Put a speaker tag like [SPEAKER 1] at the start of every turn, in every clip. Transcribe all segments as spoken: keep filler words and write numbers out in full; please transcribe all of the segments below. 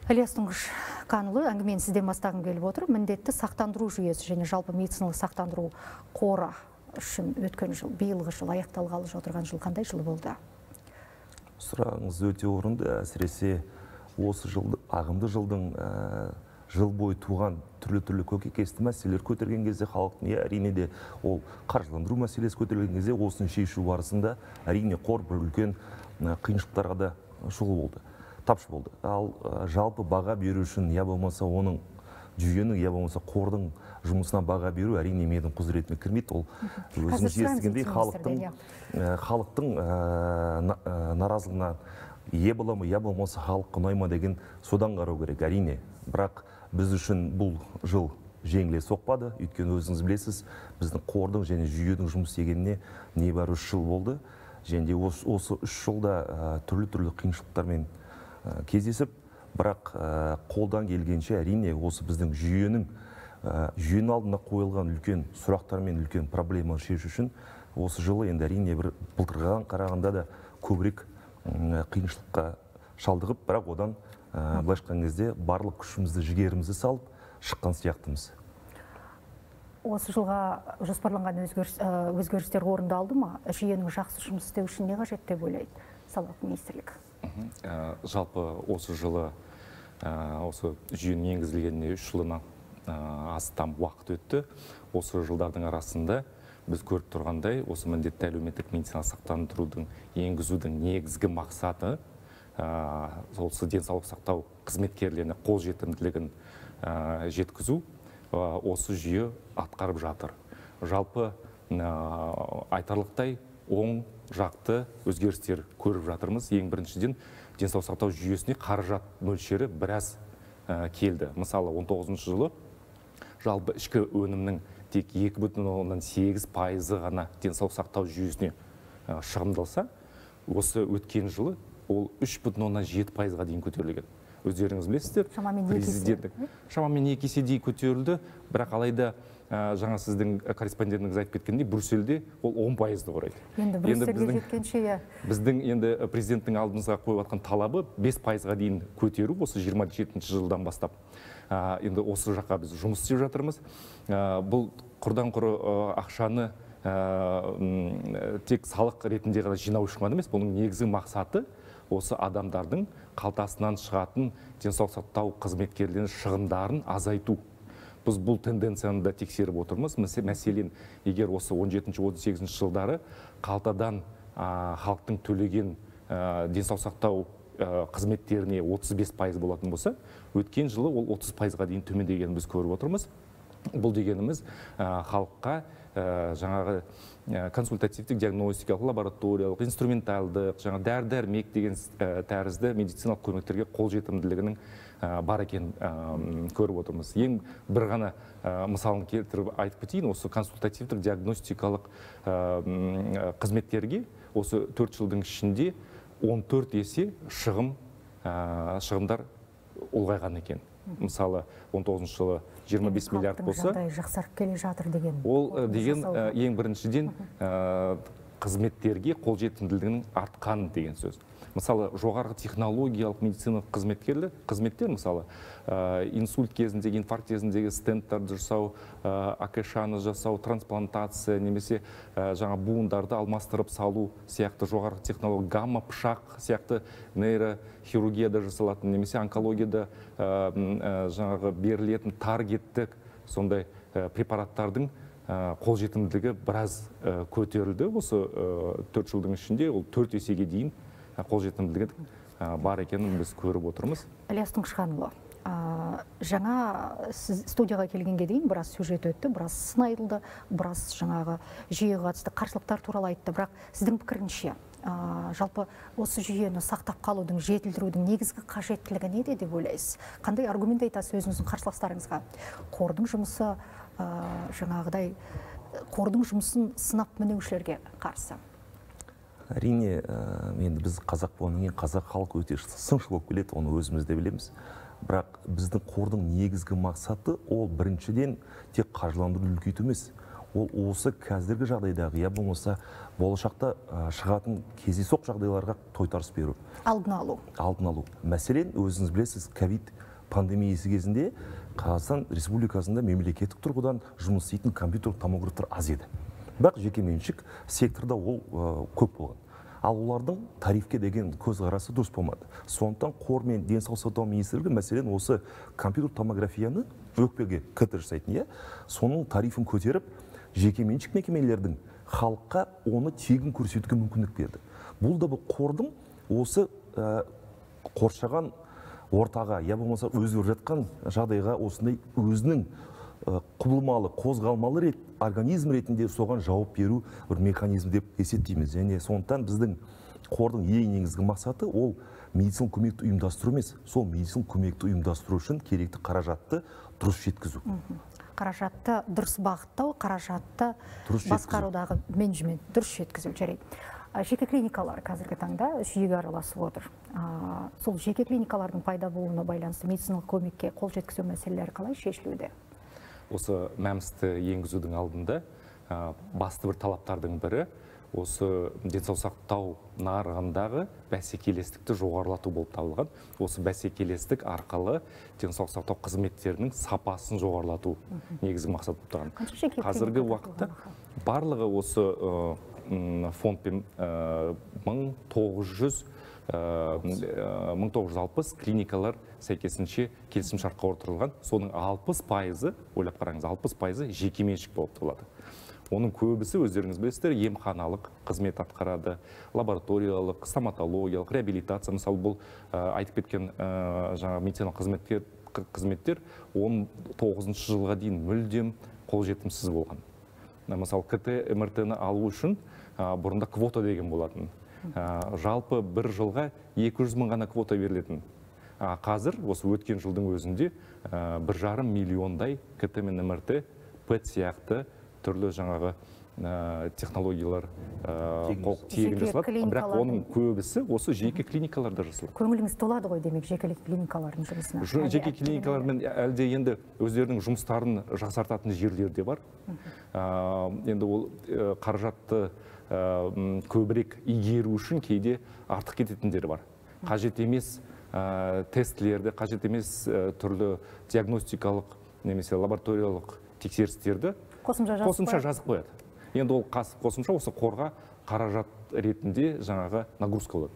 [SPEAKER 1] Ілияс Тұңғышқанұлы, әңгімені сізден бастағым келіп отыр. Міндетті сақтандыру жүйесі және жалпы медициналық сақтандыру қоры үшін өткен жыл, биылғы жыл аяқталғалы отырған жыл қандай жыл болды?
[SPEAKER 2] Сұрағыңыз өте орынды. Әсіресе осы жылды, ағымды жылдың жыл бойы туған түрлі-түрлі көкейкесті мәселелер көтерген кезде халықтың, әрине де ол қаржыландыру мәселесі көтерген кезде осыны шешу барысында әрине қор бір үлкен қиыншылықтарға да жол болды, тапшы болды. Ал жалпы баға беру үшін, я болмаса оның жүйенің, я болмаса қордың жұмысына баға беру әрине менің құзыретіме кірмейді. Ол өзіңіз естігендей халықтың халықтың наразылығына ие бола ма, я болмаса халыққа ұнай ма деген содан қарау керек, әрине. Бірақ біз үшін бұл жыл жеңіле соқпады, өйткені өзіңіз білесіз, біздің қордың және жүйенің жұмыс істегеніне небәрі үш жыл болды. Және осы үш жылда түрлі-түрлі қиыншылықтармен кездесіп, бірақ қолдан келгенше әрине осы біздің жүйенің жүйенің алдына қойылған үлкен сұрақтар мен үлкен проблеманы шешу үшін осы жылы енді әрине бір былтырға қарағанда да көбірек қиыншылыққа шалдығып, бірақ одан былайша айтқан кезде барлық күшімізді, жігерімізді салып шыққан сияқтымыз.
[SPEAKER 1] Осы жылға жоспарланған өзгерістер орындалды ма? Жүйенің жақсы жұмыс істеу үшін не қажет деп ойлайды Салалық министрлік?
[SPEAKER 3] Жалпы осы жылы осы жүйенің енгізілгеніне үш жылына астам уақыт өтті. Осы жылдардың арасында біз көріп тұрғандай, осы міндетті әлеуметтік медициналық сақтандырудың енгізудің негізгі мақсаты осы денсаулық сақтау қызметкерлеріне қолжетімділігін жеткізу осы жүйе атқарып жатыр. Жалпы айтарлықтай оң жақты өзгерістер көріп жатырмыз. Ең біріншіден денсаулық сақтау жүйесіне қаражат мөлшері біраз келді. Мысалы он тоғызыншы жылы жалпы ішкі өнімнің тек екі бүтін оннан сегіз пайызы ғана денсаулық сақтау жүйесіне шығындалса, осы өткен жылы ол үш бүтін оннан жеті пайызға дейін көтерілген. Өздеріңіз білесіздер, президенттік шамамен екі еседей көтерілді, бірақ алайда жаңа сіздің корреспондентіңіз айтып кеткендей, Брюссельде ол он пайызды құрайды.
[SPEAKER 1] Енді Брюссельге жеткенше,
[SPEAKER 3] біздің енді президенттің алдымызға қойып жатқан талабы бес пайызға дейін көтеру, осы жиырма жетінші жылдан бастап. Енді осы жаққа біз жұмыс істеп жатырмыз. Бұл құрдан құры ақшаны тек салық ретінде ғана жинау үшін ғана емес, бұның негізгі мақсаты осы адамдардың қалтасынан шығатын денсаулық сақтау қызметкерлерінің шығындарын азайту. Біз бұл тенденцияны да тексеріп отырмыз. Мәселен, егер осы он жетінші он сегізінші жылдары қалтадан халықтың төлеген денсаулық сақтау қызметтеріне отыз бес пайыз болатын болса, өткен жылы ол отыз пайызға дейін төмендегенін біз көріп отырмыз. Бұл дегеніміз халыққа жаңағы консультативтік, диагностикалық, лабораториялық, инструменталдық, жаңа дәрі-дәрмек деген тәрізді медициналық көмектерге қолжетімділігінің бар екенін көріп отырмыз. Ең бір ғана мысалын келтіріп айтып кетейін, осы консультативтік, диагностикалық қызметтерге осы төрт жылдың ішінде он төрт есе шығым шығымдар ұлғайған екен. Мысалы, он тоғызыншы жылы жиырма бес миллиард болса,
[SPEAKER 1] жақсарып келе жатыр деген.
[SPEAKER 3] Ол деген ең біріншіден қызметтерге қолжетімділігінің артқан деген сөз. Мысалы, жоғарғы технологиялық медициналық қызметкерлер, қызметтер, мысалы, инсульт кезіндегі, инфаркт кезіндегі стенттарды жасау, АКШ-ны жасау, трансплантация, немесе жаңа буындарды алмастырып салу сияқты жоғарғы технология, гамма пышақ сияқты нейрохирургияда жасалатын, немесе онкологияда жаңағы берілетін таргеттік сондай препараттардың қолжетімділігі біраз көтерілді. Осы төрт жылдың ішінде ол төрт есеге дейін қолжетімділігі бар екенін біз көріп отырмыз.
[SPEAKER 1] Ілияс Тұңғышқанұлы, жаңа сіз студияға келгенге дейін біраз сюжет өтті, біраз сын айтылды, біраз жаңағы жүйеге қатысты қарсылықтар туралы айтты, бірақ сіздің пікіріңізше жалпы осы жүйені сақтап қалудың, жетілдірудің негізгі қажеттілігі неде деп ойлайсыз? Қандай аргумент айтасыз өзіңіздің қарсыластарыңызға? Қордың жұмысы жаңағыдай қордың жұмысын сынап мінеушілерге қарсы.
[SPEAKER 2] Әрине, енді біз қазақ болғаннан кейін қазақ халқы өте сыншыл болып келеді, оны өзіміз де білеміз. Бірақ біздің қордың негізгі мақсаты ол біріншіден тек қаржыландыруды үлкейту емес, ол осы қазіргі жағдайдағы, я болмаса болашақта шығатын кездейсоқ жағдайларға тойтарыс беру.
[SPEAKER 1] Алдын алу.
[SPEAKER 2] Алдын алу. Мәселен, өзіңіз білесіз, ковид пандемиясы кезінде Қазақстан Республикасында мемлекеттік тұрғыдан жұмыс істейтін компьютерлік томографтар аз еді. Бірақ жекеменшік секторда ол көп болған. Ал олардың тарифке деген көзқарасы дұрыс болмады. Сондықтан қор мен денсаулық сақтау министрлігі мәселен осы компьютерлік томографияны өкпеге кт жасайтын, иә, соның тарифін көтеріп, жекеменшік мекемелердің халыққа оны тегін көрсетуге мүмкіндік берді. Бұл да бұл қордың осы қоршаған ортаға, я болмаса өзгеріп жатқан жағдайға осындай өзінің құбылмалы, қозғалмалы рет, организм ретінде соған жауап беру бір механизм деп есептейміз. Және сондықтан біздің қордың ең негізгі мақсаты ол медициналық көмекті ұйымдастыру емес, сол медициналық көмекті ұйымдастыру үшін керекті қаражатты дұрыс жеткізу.
[SPEAKER 1] Қаражатты дұрыс бағыттау, қаражатты басқарудағы менеджмент дұрыс жеткізу. Жарайды. Жеке клиникалар қазіргі таңда жүйеге араласып отыр. Сол жеке клиникалардың пайда болуына байланысты медициналық көмекке қол жеткізу мәселелері қалай шешілуде?
[SPEAKER 3] Осы мәмсті енгізудің алдында басты бір талаптардың бірі осы денсаулық сақтау нарығындағы бәсекелестікті жоғарылату болып табылған. Осы бәсекелестік арқылы денсаулық сақтау қызметтерінің сапасын жоғарылату негізгі мақсат болып тұрған. Қазіргі уақытта барлығы осы фондпен мың тоғыз жүз алпыс клиникалар сәйкесінше келісімшартқа отырылған. Соның алпыс пайызы, ойлап қараңыз, алпыс пайызы жекеменшік болып табылады. Оның көбісі, өздеріңіз білесіздер, емханалық қызмет атқарады, лабораториялық, стоматологиялық, реабилитация, мысалы бұл айтып кеткен жаңа медициналық қызметтер, қызметтер он тоғызыншы жылға дейін мүлдем қолжетімсіз болған. Мысалы КТ эм эр тэ-ні алу үшін бұрында квота деген болатын. Жалпы бір жылға екі жүз мың ғана квота берілетін. Қазір осы өткен жылдың өзінде бір жарым миллиондай КТ мен эм эр тэ, пэт сияқты түрлі жаңағы технологиялар тегін жасалады, бірақ оның көбісі осы жеке клиникаларда жасалады.
[SPEAKER 1] Көңіліңіз толады ғой демек жеке клиникалардың жұмысына?
[SPEAKER 3] Жеке клиникалармен әлде енді өздерінің жұмыстарын жақсартатын жерлер де бар. Енді ол қаражатты көбірек игеру үшін кейде артық кететіндері бар. Қажет емес тестілерді, қажет емес түрлі диагностикалық немесе лабораториялық тексерістерді қосымша жазып қояды. Енді ол қосымша осы қорға қаражат ретінде жаңағы нагрузка болады.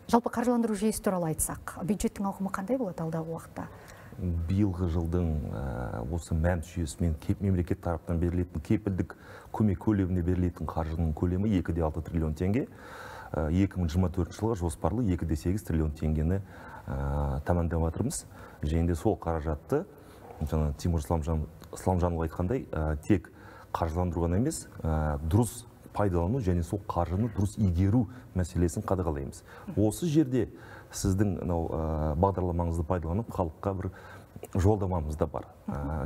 [SPEAKER 1] Жалпы қаржыландыру жүйесі туралы айтсақ, бюджеттің ауқымы қандай болады алдағы уақытта?
[SPEAKER 2] Биылғы жылдың осы мәмс жүйесімен мемлекет тарапынан берілетін кепілдік көмек көлеміне берілетін қаржының көлемі екі де алты триллион теңге. екі мың жиырма төртінші жылға жоспарлы екі де сегіз триллион теңгені тамамдап жатырмыз. Және де сол қаражатты жаңа Тимур Исламжанұлы айтқандай, тек қаржыландыру ғана емес, дұрыс пайдалану және сол қаржыны дұрыс игеру мәселесін қадағалаймыз. Осы жерде сіздің бағдарламаңызды пайдаланып, халыққа бір жолдамамыз да бар.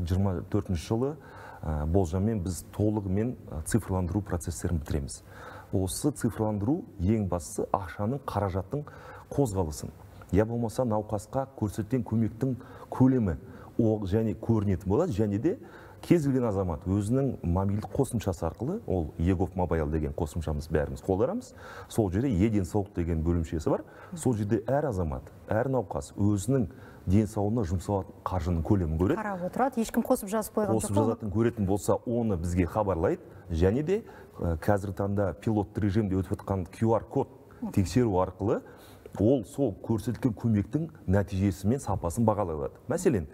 [SPEAKER 2] жиырма төртінші жылы болжаммен біз толығымен цифрландыру процестерін бітіреміз. Осы цифрландыру ең бастысы ақшаның, қаражаттың қозғалысын. Я болмаса науқасқа көрсеткен көмектің көлемі және көрінетін болады, және де кез келген азамат өзінің мобильдік қосымшасы арқылы, ол егов мобайл деген қосымшамыз бәріміз қолдарамыз. Сол жерде е-денсаулық деген бөлімшесі бар. Сол жерде әр азамат, әр науқас өзінің денсаулығына жұмсалатын қаржының көлемін көреді.
[SPEAKER 1] Қарап отырады, ешкім қосып жазып қойған жоқ.
[SPEAKER 2] Қосып жазатын көретін болса, оны бізге хабарлайды. Және де қазіргі таңда пилотты режимде өтіп жатқан ку ар код тексеру арқылы ол сол көрсетілген көмектің нәтижесі мен сапасын бағалай алады. Мәселен,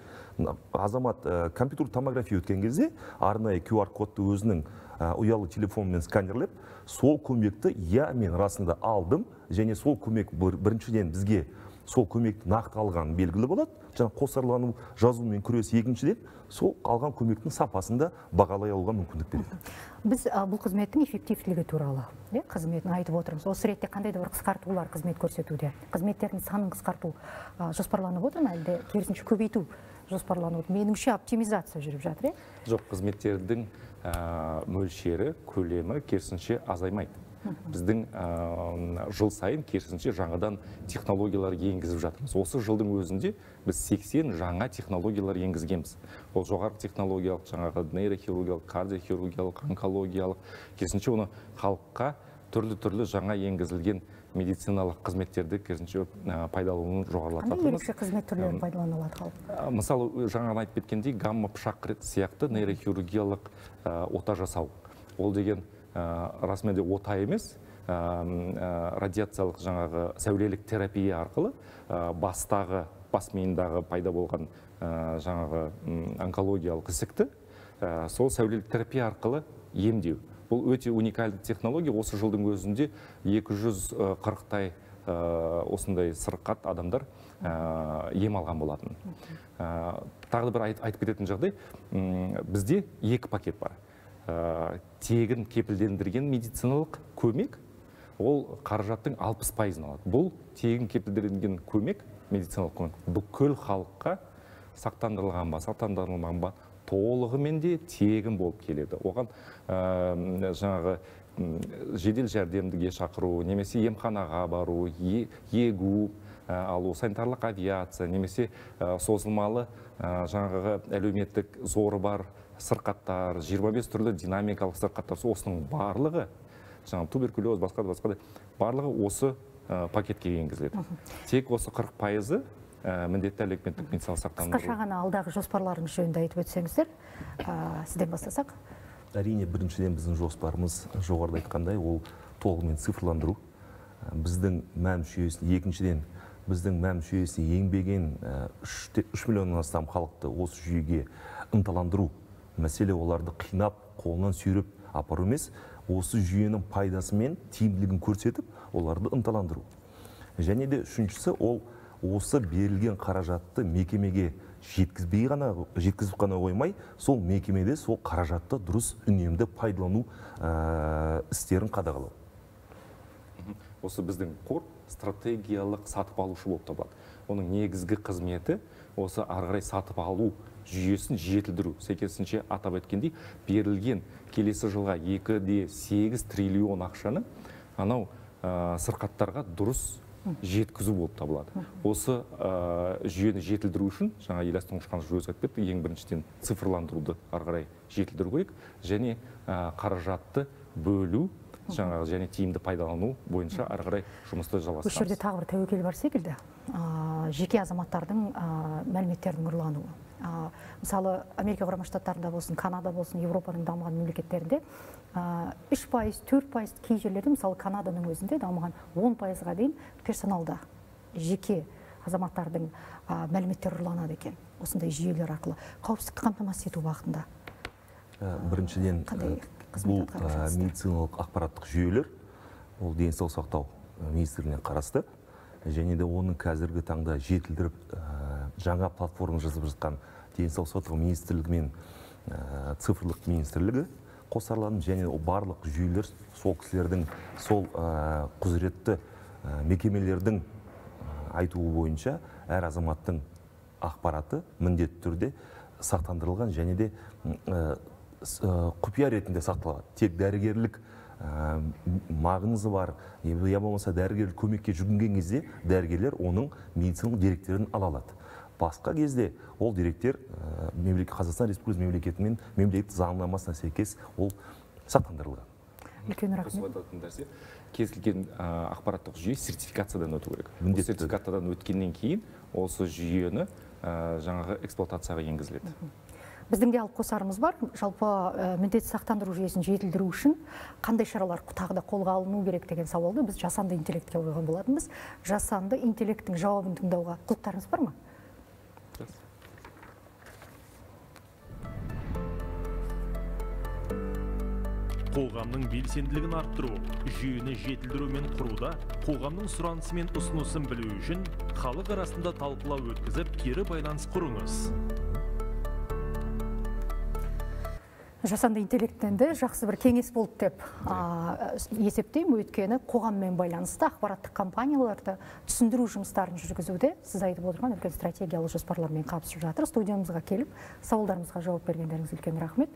[SPEAKER 2] азамат компьютерлік томография өткен кезде арнайы ку ар кодты өзінің ұялы телефонмен сканерлеп, сол көмекті я мен расында алдым, және сол көмек біріншіден бізге сол көмекті нақты алған белгілі болады. Жаңа қосарлану жазумен күрес екіншіден сол алған көмектің сапасында бағалай алуға мүмкіндік береді.
[SPEAKER 1] Біз бұл қызметтің эффективтілігі туралы қызметін айтып отырмыз. Осы ретте қандай да бір қысқартулар қызмет көрсетуде? Қызметтердің санын қысқарту жоспарланып отыр ма, әлде керісінше көбейту жоспарланып отыр? Меніңше оптимизация жүріп жатыр, е?
[SPEAKER 3] Жоқ, қызметтердің мөлшері, көлемі керісінше азаймайды. біздің жыл сайын керісінше жаңадан технологиялар енгізіп жатырмыз. Осы жылдың өзінде біз сексен жаңа технологиялар енгізгенбіз. Ол жоғары технологиялық, жаңағы нейрохирургиялық, кардиохирургиялық, онкологиялық, керісінше оны халыққа түрлі-түрлі жаңа енгізілген медициналық қызметтерді керісінше пайдалануын жоғарылатып жатырмыз.
[SPEAKER 1] Қандай ерекше қызмет түрлерін пайдаланылады халық?
[SPEAKER 3] Мысалы, жаңа айтып кеткендей, гамма пышақ сияқты нейрохирургиялық ота жасау. Ол деген расымен де ота емес, радиациялық жаңағы сәулелік терапия арқылы бастағы, бас миындағы пайда болған жаңағы онкологиялық ісікті сол сәулелік терапия арқылы емдеу. Бұл өте уникальды технология. Осы жылдың өзінде екі жүз қырықтай осындай сырқат адамдар ем алған болатын. Тағы бір айтып кететін жағдай, бізде екі пакет бар. Тегін кепілдендірген медициналық көмек, ол қаражаттың алпыс пайызын алады. Бұл тегін кепілдендірген көмек, медициналық көмек, бүкіл халыққа сақтандырылған ба, сақтандырылмаған ба, толығымен де тегін болып келеді. Оған жаңағы жедел жәрдемдіге шақыру, немесе емханаға бару, егу, алу, санитарлық авиация, немесе созылмалы жаңағы әлеуметтік зоры бар сырқаттар, жиырма бес түрлі динамикалық сырқаттар, осының барлығы, жаңағы туберкулез, басқа да басқа да, барлығы осы пакетке енгізіледі. Тек осы қырық пайызы міндетті әлеуметтік медициналық сақтандыру.
[SPEAKER 1] Қысқаша ғана алдағы жоспарларыңыз жөнінде айтып өтсеңіздер, сізден бастасақ.
[SPEAKER 2] Әрине, біріншіден біздің жоспарымыз жоғарыда айтқандай, ол толығымен цифрландыру. Біздің мәм жүйесін, екіншіден біздің мәм жүйесін еңбеген үш миллионнан астам халықты осы жүйеге ынталандыру. Мәселе оларды қинап, қолынан сүйреп апару емес, осы жүйенің пайдасы мен тиімділігін көрсетіп, оларды ынталандыру. Және де үшіншісі, ол осы берілген қаражатты мекемеге жеткізбей ғана, жеткізіп қана қоймай, сол мекемеде сол қаражатты дұрыс үнемді пайдалану істерін қадағалау.
[SPEAKER 3] Осы біздің қор стратегиялық сатып алушы болып табылады. Оның негізгі қызметі осы ары қарай сатып алу жүйесін жетілдіру. Сәйкесінше атап өткендей, берілген келесі жылға екі де сегіз триллион ақшаны анау сырқаттарға дұрыс жеткізу болып табылады. Осы жүйені жетілдіру үшін, жаңа Ильяс Тұңғышханов өзі айтып кетті, ең біріншіден цифрландыруды ары қарай жетілдіру керек, және қаражатты бөлу, жаңағы және тиімді пайдалану бойынша ары қарай жұмысты жалғастырамыз.
[SPEAKER 1] Осы жерде тағы бір тәуекел бар секілді, жеке азаматтардың мәліметтердің ұрлануы. Мысалы, Америка Құрама Штаттарында болсын, Канада болсын, Европаның дамыған мемлекеттерінде үш пайыз, төрт пайыз, кей жерлерде, мысалы Канаданың өзінде дамыған он пайызға дейін персоналда жеке азаматтардың мәліметтері ұрланады екен. Осындай жүйелер арқылы қауіпсіздікті қамтамасыз ету бағытында.
[SPEAKER 2] Біріншіден, бұл медициналық ақпараттық жүйелер, ол денсаулық сақтау министрлігіне қарасты, және де оның қазіргі таңда жетілдіріп жаңа платформа жазып жатқан денсаулық сақтау министрлігі мен цифрлық министрлігі қосарланып, және барлық жүйелер сол кісілердің, сол құзыретті мекемелердің айтуы бойынша әр азаматтың ақпараты міндетті түрде сақтандырылған, және де құпия ретінде сақталады. Тек дәрігерлік мағынызы бар, я болмаса дәрігерлік көмекке жүгінген кезде дәрігерлер оның медициналық деректерін ала алады. Басқа кезде ол деректер Қазақстан Республикасы мемлекеті мен мемлекеттік заңнамасына сәйкес ол сақтандырылған.
[SPEAKER 1] Үлкен рахмет.
[SPEAKER 3] Кез келген ақпараттық жүйе сертификациядан өту керек. Сертификациядан өткеннен кейін осы жүйені жаңағы эксплуатацияға енгізіледі.
[SPEAKER 1] Біздің де алып қосарымыз бар. Жалпы міндетті сақтандыру жүйесін жетілдіру үшін қандай шаралар тағы да қолға алыну керек деген сауалды біз жасанды интеллектке қойған болатынбыз. Жасанды интеллекттің жауабын тыңдауға құлықтарыңыз бар ма?
[SPEAKER 4] Қоғамның белсенділігін арттыру, жүйені жетілдіру мен құруда, қоғамның сұранысы мен ұсынысын білу үшін халық арасында талқылау өткізіп, кері байланыс құрыңыз.
[SPEAKER 1] Жасанды интеллекттен де жақсы бір кеңес болды деп есептеймін, өйткені қоғаммен байланысты ақпараттық компанияларды түсіндіру жұмыстарын жүргізуде сіз айтып отырған үлкен стратегиялық жоспарлармен қабысып жатыр. Студиямызға келіп, сауалдарымызға жауап бергендеріңіз үлкен рахмет.